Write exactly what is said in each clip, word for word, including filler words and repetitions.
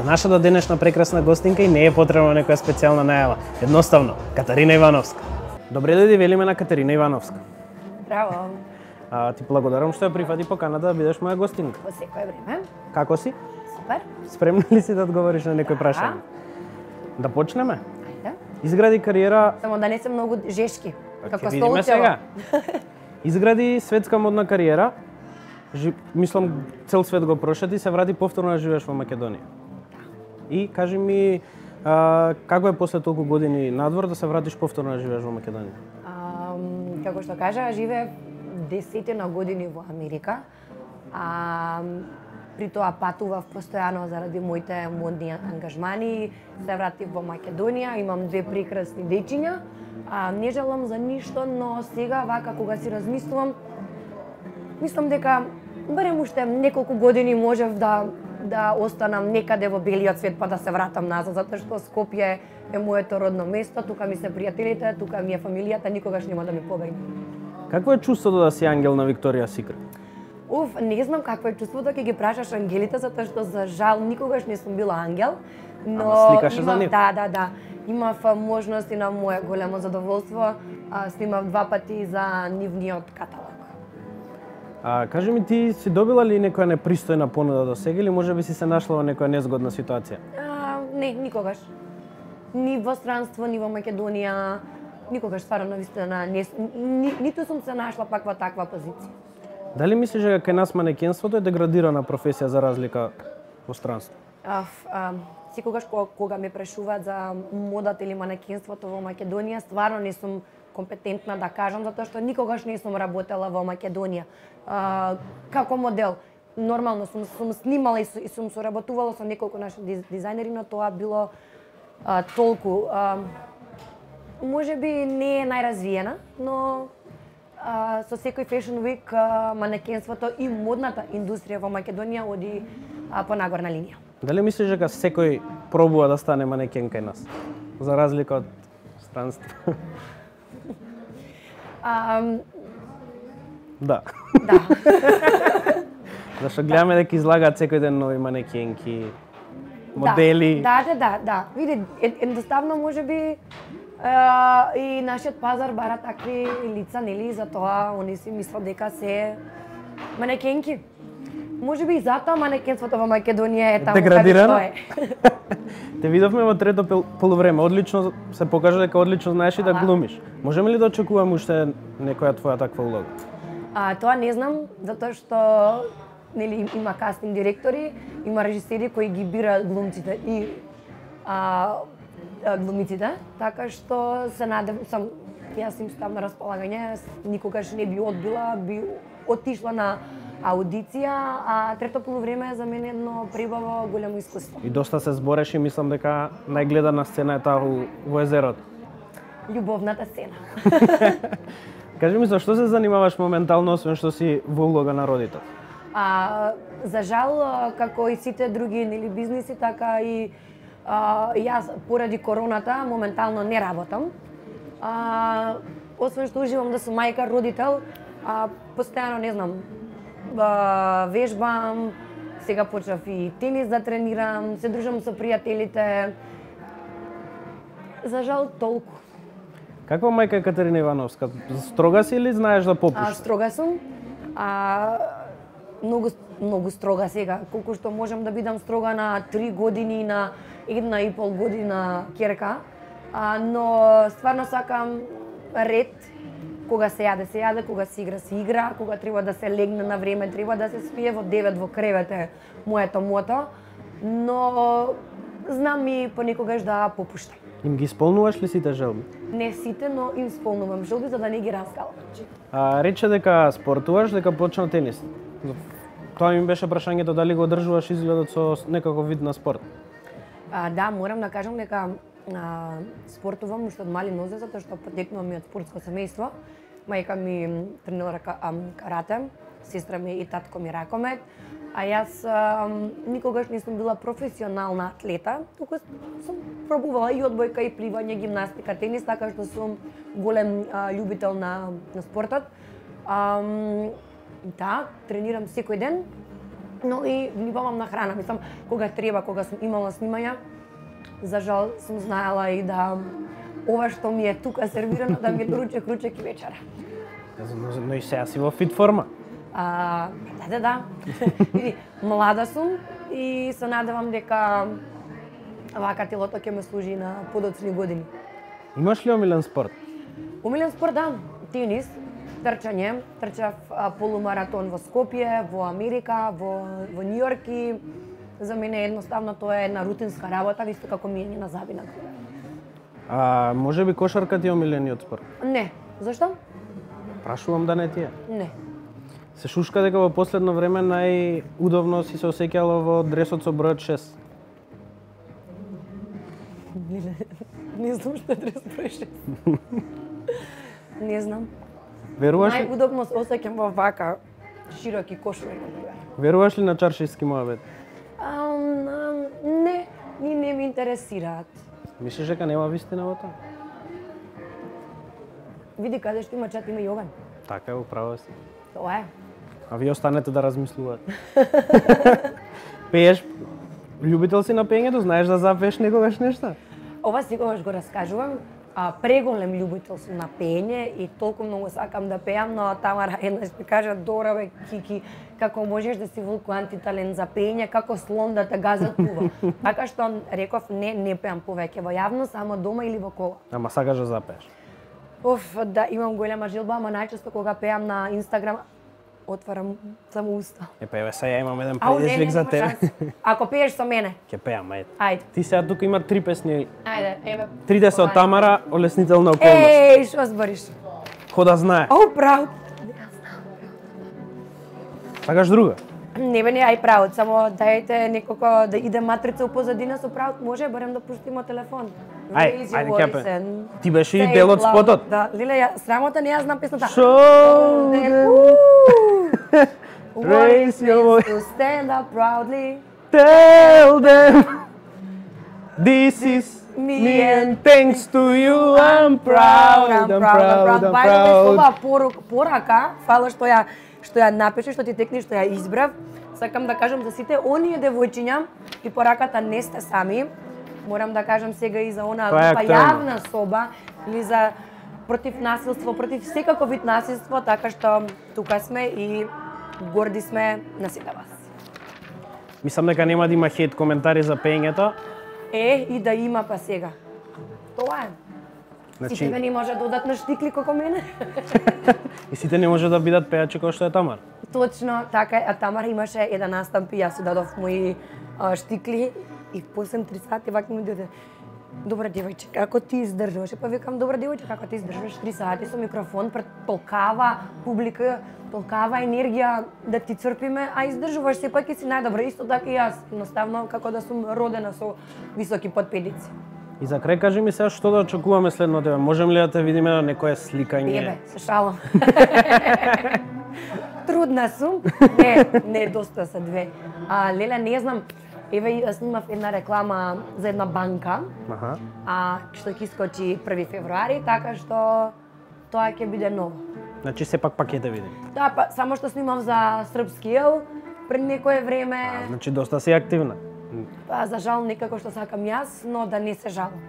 нашата денешна прекрасна гостинка и не е потребна некоја специјална најава. Едноставно, Катарина Ивановска. Добре дојди, велиме на Катарина Ивановска. Браво. А, ти благодарам што ја прифати поканата да бидеш моја гостинка. По секое време. Како си? Супер. Спремна ли си да одговориш на некој прашање? Да почнеме? Ајде. Изгради кариера... Само да не се многу жешки. Како Ќе видиме сега. столчево. Изгради светска модна кариера. Жи... Мислам, цел свет го прошети, се врати повторно да живееш во Македонија. И кажи ми, а, како е после толку години надвор да се вратиш повторно да живееш во Македонија? А, како што кажа, живеев десетина години во Америка. А, при тоа патував постојано заради моите модни ангажмани. Се вратив во Македонија, имам две прекрасни дечиња. А, не желам за ништо, но сега, вака, кога си размислувам, мислам дека барем уште неколку години можев да да останам некаде во белиот свет па да се вратам назад, затоа што Скопје е моето родно место, тука ми се пријателите, тука ми е фамилијата, никогаш нема да ми побегне. Какво е чувството да си ангел на Викторија Секрет? Уф, не знам какво е чувството, ќе ги прашаш ангелите, затоа што за жал никогаш не сум била ангел, но Ама сликаше за имав, нив? да, да, да. Имав можност и на мое големо задоволство, а, снимав два пати за нивниот каталог. А, кажи ми, ти си добила ли некоја непристојна понуда до сега или можеби си се нашла во некоја незгодна ситуација? А, не, никогаш. Ни во странство, ни во Македонија, никогаш стварно навистина не ни, ниту сум се нашла пак во таква позиција. Дали мислиш дека кај нас манекенството е деградирана професија за разлика во странство? Аф, а, секогаш кога, кога ме прашуваат за модата или манекенството во Македонија, стварно не сум компетентна да кажам, затоа што никогаш не сум работела во Македонија. А, како модел, нормално сум, сум снимала и, и сум соработувала со неколку наши дизајнери, но тоа било а, толку. А, може би не е најразвиена, но а, со секој Fashion Week а, манекенството и модната индустрија во Македонија оди а, по нагорна линија. Дали мислиш дека секој пробува да стане манекен кај нас? За разлика од странство. А, Да. да. Зашто гледаме дека излагаат секој ден нови манекенки, модели. Да, да, да, да. Види, едноставно може би а, и нашиот пазар бара такви лица, нели, за тоа они си мислат дека се манекенки. Може би и затоа манекенството во Македонија е таму Деградирано? каде што е. Те видовме во трето пол- полувреме, одлично се покажа дека одлично знаеш и да Ала. глумиш. Можеме ли да очекуваме уште некоја твоја таква улога? А, тоа не знам, затоа што нели има кастинг директори, има режисери кои ги бираат глумците и а, а, глумиците, така што се надев сам јас им ставам на располагање, никогаш не би одбила, би отишла на аудиција, а трето полувреме за мене едно прибаво големо искуство. И доста се збореше и мислам дека најгледана сцена е таа во- во езерото. Љубовната сцена. Кажи ми, зашто се занимаваш моментално, освен што си во улога на родител? А, за жал, а, како и сите други нели бизниси, така и а, јас поради короната моментално не работам. А, освен што уживам да сум мајка, родител, а, постојано не знам, а, вежбам, сега почнав и тенис да тренирам, се дружам со пријателите. За жал толку. Каква мајка е Катерина Ивановска? Строга си или знаеш да А, попушташ? строга сум. А, многу многу строга сега, колку што можам да бидам строга на три години, на една и пол година ќерка. А, но стварно сакам ред, кога се јаде, се јаде, кога се игра, се игра, кога треба да се легне на време, треба да се спие во девет во кревет е моето мото. Но знам и понекогаш да попуштам. Им ги исполнуваш ли сите желби? Не сите, но им исполнувам желби за да не ги раскалам. А, рече дека спортуваш, дека почна тенис. Тоа ми беше прашањето дали го одржуваш изгледот со некаков вид на спорт. А, да, морам да кажам дека а, спортувам уште од мали нозе, затоа што потекнувам и од спортско семејство. Мајка ми тренира карате, сестра ми и татко ми ракомет, а јас а, никогаш не сум била професионална атлета, туку сум пробувала и одбојка, и пливање, гимнастика, тенис, така што сум голем а, љубител на, на спортот. А, да, тренирам секој ден, но и внимавам на храна. Мислам, кога треба, кога сум имала снимања, за жал сум знаела и да ова што ми е тука сервирано да ми е ручек, ручек и вечера. Но, но и сега си во фит форма. А, да, да, да. Види, млада сум и се надевам дека вака телото ќе ме служи на подоцни години. Имаш ли омилен спорт? Омилен спорт, да. Тенис, трчање. Трчав а, полумаратон во Скопје, во Америка, во, во Њујорк и за мене едноставно тоа е една рутинска работа, исто како миење на зъби на глава. А може би кошарка ти е омилениот спорт? Не. Зашто? Прашувам да не ти е. Не. Се шушка дека во последно време најудобно си се осеќала во дресот со бројот шест. Не, не знам што е дрес број шест. Не знам. Веруваш ли? Најудобно се осеќам во вака широки кошури. Веруваш ли на чаршиски моабет? Ам, ам, не, ни не ми интересираат. Мислиш дека нема вистина во тоа? Види каде што има чат, има и оган. Така е, управо си. Тоа е. А вие останете да размислувате. Пееш, љубител си на пеењето, знаеш да запееш некогаш нешто? Ова секогаш го раскажувам. А, преголем љубител сум на пеење и толку многу сакам да пеам, но Тамара еднаш ми кажа: "Добра бе, Кики, како можеш да си волку антиталент за пеење, како слон да те газат пува." Така што реков не, не пеам повеќе во јавност, само дома или во кола. Ама сакаш да запееш? Оф, да, имам голема желба, ама најчесто кога пеам на Инстаграм, отварам само уста. Е, па еве сега имам еден Ау, не, предизвик не, за нема тебе. шанс. Ако пееш со мене, Ќе пеам, ајде. ајде. Ти сега тука има три песни. Ајде, еве. Тридесет од Тамара, олеснителна околност. Еј, што збориш? Хода знае. Ау, право. Сакаш друга? Не бе, не, ај правот, само дајте некако да иде матрица у позадина со правот, може барем да пуштимо телефон. Ај, Raise ајде your ќе voice пе. and Ти беше и say дел од loud. спотот. Да, Лиле, ја срамота не ја знам песната. Show them, raise your voice. To stand up proudly. tell them this is Me me and and thanks to you I'm proud, I'm proud, I'm By the way, proud. ова порука, порака, фала што ја што ја напише, што ти текни, што ја избрав. Сакам да кажам за сите оние девојчиња и пораката не сте сами. Морам да кажам сега и за она Тоа е група актуелно. јавна соба или за против насилство, против секаков вид насилство, така што тука сме и горди сме на сите вас. Мислам дека нема да има хейт коментари за пеењето. Е, и да има па сега. Тоа е. Значи, Сите не може да одат на штикли како мене. и сите не може да бидат пејачи кој што е Тамар. Точно, така е. А Тамар имаше еден настан и јас си дадов мои а, штикли и после три сати вака ми дојде: "Добра девојче, како ти издржуваш?" Па викам: "Добра девојче, како ти издржуваш три сати со микрофон пред толкава публика, толкава енергија да ти црпиме, а издржуваш сепак и си најдобра, исто така и јас, едноставно како да сум родена со високи подпедици." И за крај кажи ми сега што да очекуваме следно тебе. Можем ли да те видиме на некое сликање? Бебе, се шалам. Трудна сум. Не, не, доста се две. А, Леле, не знам, еве јас снимав една реклама за една банка, Аха. а што ќе искочи први февруари, така што тоа ќе биде ново. Значи сепак пак ќе те видим. Да, па само што снимав за српски ел пред некое време, А, значи доста си активна. па за жал некако што сакам јас, но да не се жалам.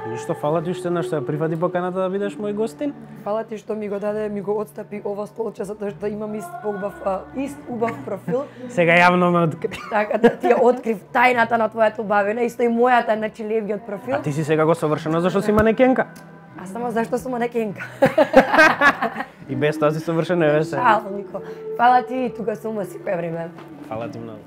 Ништо, фала ти уште еднаш што ја прифати поканата да бидеш мој гостин. Фала ти што ми го даде, ми го отстапи ова столче затоа што имам ист убав, а, ист убав профил. Сега јавно ме откри. Така да ти ја открив тајната на твојата убавина, исто и мојата, значи левиот профил. А ти си сега го совршена зашто си манекенка. А само зашто сум манекенка. И без тоа си совршена, еве се. Шал, Нико. Фала ти, тука сум во секое време. Фала ти многу.